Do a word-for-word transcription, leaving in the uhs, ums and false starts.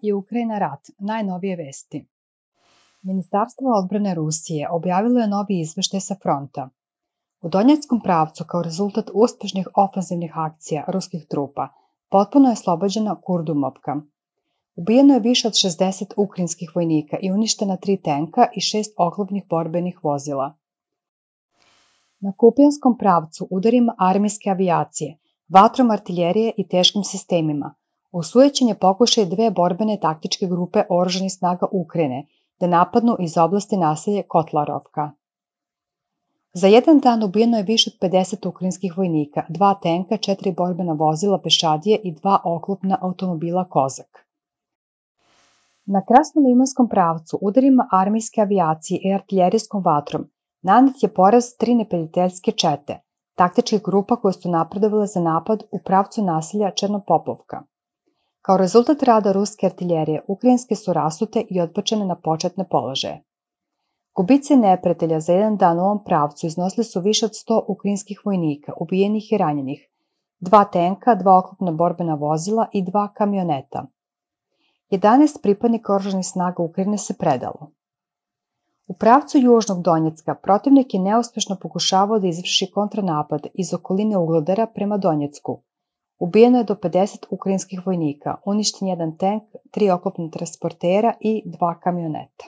i Ukrajina rat, najnovije vesti. Ministarstvo odbrane Rusije objavilo je novi izveštaj sa fronta. U Donjeckom pravcu, kao rezultat uspešnih ofanzivnih akcija ruskih trupa, potpuno je oslobođena Kurdumovka. Ubijeno je više od šezdeset ukrajinskih vojnika i uništena tri tenka i šest oklopnih borbenih vozila. Na Kupijanskom pravcu udarima armijske avijacije, vatrom artiljerije i teškim sistemima, osujećen je pokušaj dve borbene taktičke grupe oružanih snaga Ukrajine da napadnu iz oblasti naselje Kotlarovka. Za jedan dan ubijeno je više od pedeset ukrajinskih vojnika, dva tenka, četiri borbena vozila pešadije i dva oklopna automobila Kozak. Na Krasnolimanskom pravcu udarima armijske avijacije i artiljerijskom vatrom nanet je poraz tri neprijateljske čete, taktičkih grupa koje su napredovale za napad u pravcu naselja Černopopovka. Kao rezultat rada ruske artiljerije, ukrajinske su rasute i odbačene na početne položaje. Gubici neprijatelja za jedan dan u ovom pravcu iznosili su više od sto ukrajinskih vojnika, ubijenih i ranjenih, dva tenka, dva oklopna borbena vozila i dva kamioneta. jedanaest pripadnika oružanih snaga Ukrajine se predalo. U pravcu južnog Donjecka protivnik je neuspešno pokušavao da izvrši kontranapad iz okoline Uglodara prema Donjecku. Ubijeno je do pedeset ukrajinskih vojnika, uništen jedan tenk, tri oklopna transportera i dva kamioneta.